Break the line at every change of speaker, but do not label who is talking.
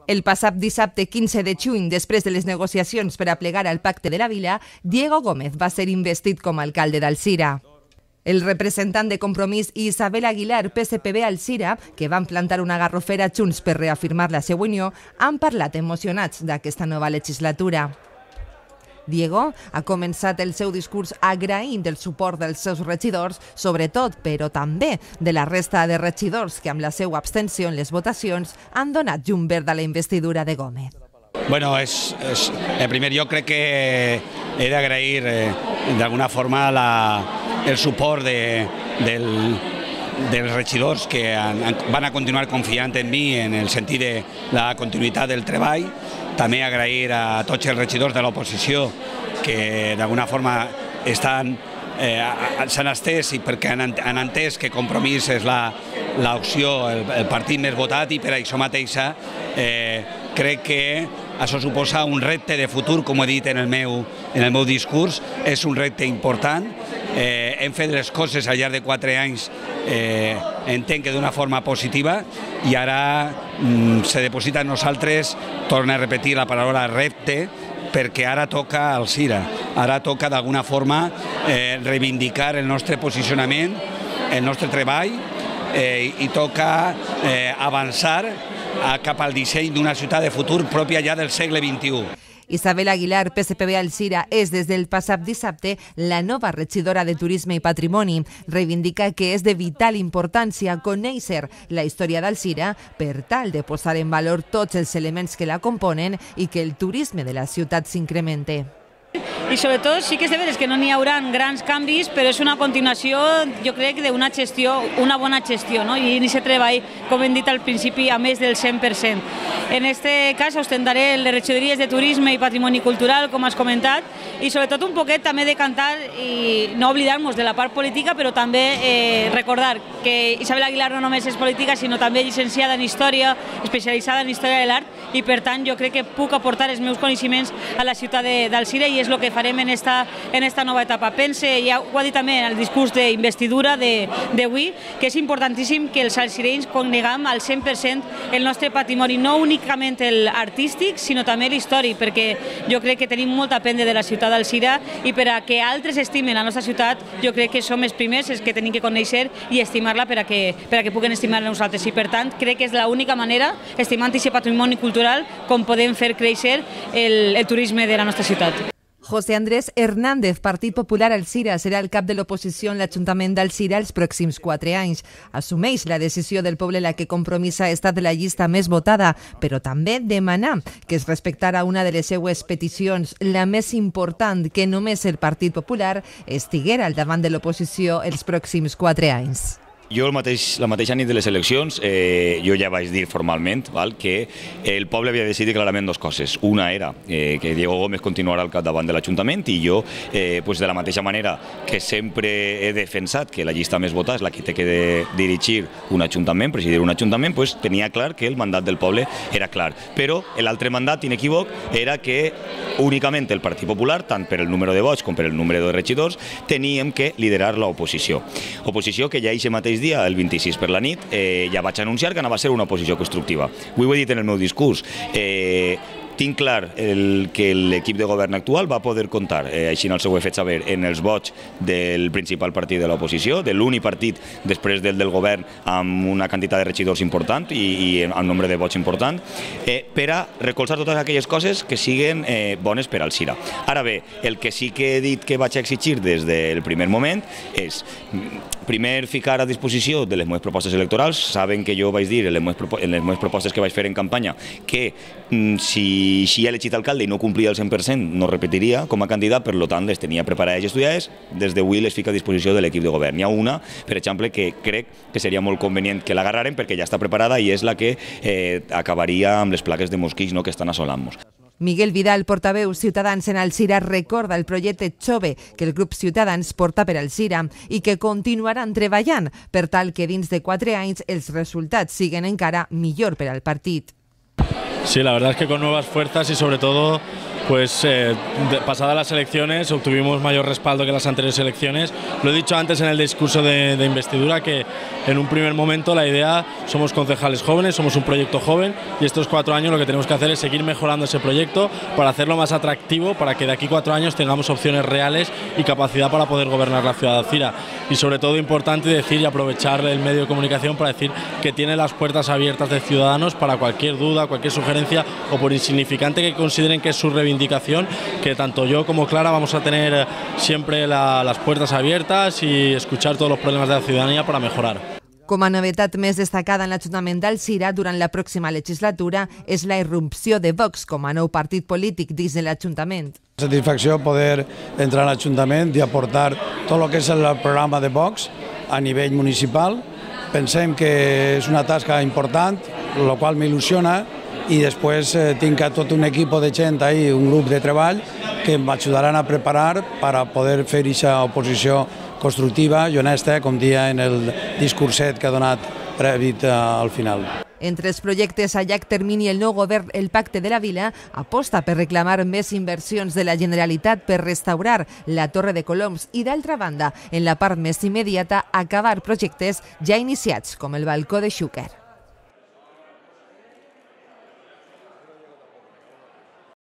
El passat dissabte 15 de juny, després de les negociacions per a plegar al Pacte de la Vila, Diego Gómez va ser investit com a alcalde d'Alzira. El representant de Compromís i Isabel Aguilar, PSPB Alzira, que van plantar una garrofera junts per reafirmar la seva unió, han parlat emocionats d'aquesta nova legislatura. Diego ha començat el seu discurs agraint el suport dels seus regidors, sobretot, però també de la resta de regidors que amb la seva abstenció en les votacions han donat llum verd a la investidura de Gómez.
Bueno, en primer lloc crec que he d'agrair d'alguna forma el suport dels regidors que van a continuar confiant en mi en el sentit de la continuïtat del treball. També agrair a tots els regidors de l'oposició que d'alguna forma s'han estès i perquè han entès que Compromís és l'opció, el partit més votat, i per això mateixa crec que això suposa un repte de futur, com he dit en el meu discurs, és un repte important. Hem fet les coses al llarg de 4 anys, entenc que d'una forma positiva, i ara se deposita en nosaltres, torno a repetir la paraula repte, perquè ara toca Alzira, ara toca d'alguna forma reivindicar el nostre posicionament, el nostre treball, i toca avançar cap al disseny d'una ciutat de futur pròpia ja del segle XXI.
Isabel Aguilar, PSPB Alzira, és des del passat dissabte la nova regidora de Turisme i Patrimoni. Reivindica que és de vital importància conèixer la història d'Alzira per tal de posar en valor tots els elements que la componen i que el turisme de la ciutat s'incremente.
I sobretot sí que és de veres que no n'hi haurà grans canvis, però és una continuació, jo crec, d'una gestió, una bona gestió, no? I aquest treball, com hem dit al principi, a més del 100%. En aquest cas ostentaré les regidories de Turisme i Patrimoni Cultural, com has comentat, i sobretot un poquet també de cantar i no oblidar-nos de la part política, però també recordar que Isabel Aguilar no només és política, sinó també llicenciada en Història, especialitzada en Història de l'Art, i per tant jo crec que puc aportar els meus coneixements a la ciutat d'Alzira, i és el que farem en esta nova etapa. Pense, ja ho ha dit també en el discurs d'investidura d'avui, que és importantíssim que els alzirenys coneguem al 100% el nostre patrimoni, no únicament l'artístic, sinó també l'històric, perquè jo crec que tenim molt a aprendre de la ciutat d'Alzira, i per a que altres estimen la nostra ciutat, jo crec que som els primers els que tenim que conèixer i estimar-la per a que puguen estimar-la nosaltres. I per tant, crec que és l'única manera, estimant aquest patrimoni cultural, com podem fer créixer el turisme de la nostra ciutat.
José Andrés Hernández, Partit Popular Alzira, serà el cap de l'oposició en l'Ajuntament d'Alzira els pròxims 4 anys. Assumeix la decisió del poble la que Compromís ha estat la llista més votada, però també demanar que es respectara una de les seues peticions, la més important, que només el Partit Popular estiguera al davant de l'oposició els pròxims 4 anys.
Jo la mateixa nit de les eleccions jo ja vaig dir formalment que el poble havia decidit clarament 2 coses. Una era que Diego Gómez continuarà al capdavant de l'Ajuntament, i jo, de la mateixa manera que sempre he defensat que la llista més votada és la que té que dirigir un ajuntament, presidir un ajuntament, tenia clar que el mandat del poble era clar. Però l'altre mandat inequívoc era que únicament el Partit Popular, tant per el número de vots com per el número de regidors, teníem que liderar l'oposició. Oposició que ja aquest mateix dia, el 26 per la nit, ja vaig anunciar que anava a ser una oposició constructiva. Ho he dit en el meu discurs. Tinc clar que l'equip de govern actual va poder comptar, així no ho he fet saber, en els vots del principal partit de l'oposició, de l'únic partit després del govern amb una quantitat de regidors important i amb nombre de vots important, per a recolzar totes aquelles coses que siguen bones per Alzira. Ara bé, el que sí que he dit que vaig exigir des del primer moment és primer ficar a disposició de les meves propostes electorals. Saben que jo vaig dir en les meves propostes que vaig fer en campanya que si he elegit alcalde i no complia el 100% no repetiria com a candidat, per tant les tenia preparades i estudiades. Des d'avui les fico a disposició de l'equip de govern. Hi ha una, per exemple, que crec que seria molt convenient que l'agarraren perquè ja està preparada i és la que acabaria amb les plagues de mosquits que estan assolant-nos.
Miguel Vidal, portaveu Ciutadans en Alzira, recorda el projecte Jove que el grup Ciutadans porta per Alzira i que continuaran treballant per tal que dins de 4 anys els resultats siguen encara millor per al partit.
Sí, la verdad es que con nuevas fuerzas y sobre todo pues pasadas las elecciones obtuvimos mayor respaldo que las anteriores elecciones. Lo he dicho antes en el discurso de investidura, que en un primer momento la idea, somos concejales jóvenes, somos un proyecto joven, y estos 4 años lo que tenemos que hacer es seguir mejorando ese proyecto para hacerlo más atractivo, para que de aquí 4 años tengamos opciones reales y capacidad para poder gobernar la ciudad de Alzira. Y sobre todo importante decir y aprovechar el medio de comunicación para decir que tiene las puertas abiertas de Ciudadanos para cualquier duda, cualquier sugerencia o por insignificante que consideren que es su reivindicación, que tanto yo como Clara vamos a tener siempre las puertas abiertas y escuchar todos los problemas de la ciudadanía para mejorar.
Com a novetat més destacada en l'Ajuntament d'Alzira durant la pròxima legislatura és la irrupció de Vox com a nou partit polític dins de l'Ajuntament.
Satisfacció poder entrar a l'Ajuntament i aportar tot el que és el programa de Vox a nivell municipal. Pensem que és una tasca important, el qual m'il·lusiona, i després tinc tot un equip de gent ahí, un grup de treball que m'ajudaran a preparar per a poder fer aquesta oposició constructiva i honesta, com dia en el discurset que ha donat prèvit al final.
Entre els projectes a llarg termini, el nou govern, el Pacte de la Vila, aposta per reclamar més inversions de la Generalitat per restaurar la Torre de Coloms i, d'altra banda, en la part més immediata, acabar projectes ja iniciats, com el balcó de Xúquer.